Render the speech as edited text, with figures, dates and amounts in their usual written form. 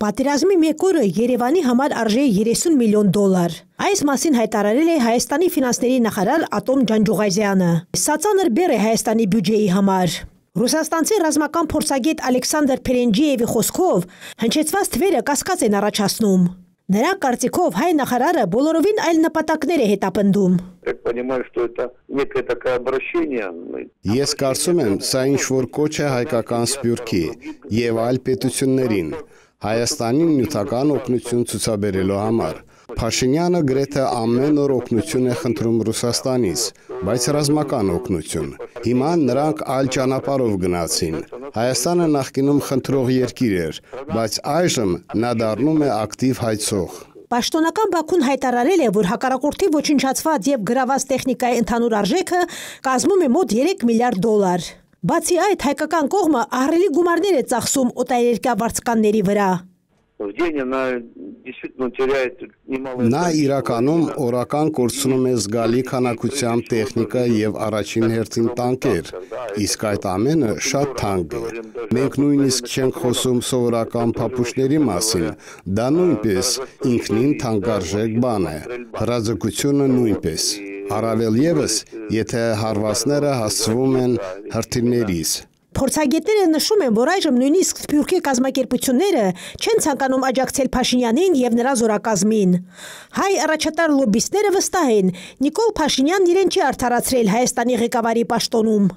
Պատերազմի մեկ օրը Երևանի համար արժե 30 միլիոն դոլար։ Այս մասին հայտարարել է Հայաստանի ֆինանսների նախարար Ատոմ Ջանջուղազյանը։ Սա ծանր բեռ է Հայաստանի բյուջեի համար։ Ռուսաստանցի ռազմական փորձագետ Ալեքսանդր Փերենջիևի խոսքով հնչեցված թվերը կասկած են առաջացնում։ Նրա կարծիքով հայ նախարարը բոլորովին այլ նպատակներ է հետապնդում։ Ես կարծում եմ, սա ինչ-որ կոչ է հայկական սփյուռքի եւ այլ պետություններին Հայաստանին նյութական օգնություն ցուցաբերելու համար։ Փաշինյանը գրեթե ամեն օր օգնություն է խնդրում Ռուսաստանից, բայց ռազմական օգնություն։ Հիմա նրանք այլ ճանապարհով գնացին։ Հայաստանը նախկինում խնդրող երկիր էր, բայց այժմ նա դառնում է ակտիվ հայցող։ Պաշտոնական Բաքուն հայտարարել է, որ հակառակորդի ոչնչացված եւ գրաված տեխնիկայի ընդհանուր արժեքը կազմում է մոտ 3 միլիարդ դոլար։ Բացի այդ, հայկական կողմը ահռելի գումարներ է ծախսում օտարերկրյա վարձկանների վրա։ Նա իրականում օրական կորցնում է զգալի քանակությամբ տեխնիկա եւ առաջին հերթին տանկեր, իսկ այդ ամենը շատ թանկ է։ Մենք նույնիսկ չենք խոսում սովորական փապուշների մասին, դա նույնպես ինքնին թանկարժեք բան է, հրաձգությունը նույնպես, առավել եւս, եթե հարվածները հասցվում են հրթիռներից։ Փորձագետները նշում են, որ այժմ նույնիսկ սփյուռքի կազմակերպությունները չեն ցանկանում աջակցել Փաշինյանին եւ նրա զորակազմին։ Հայ առաջատար լոբբիստները վստահ են, Նիկոլ Փաշինյանն իրեն չի արդարացրել Հայաստանի ղեկավարի պաշտոնում։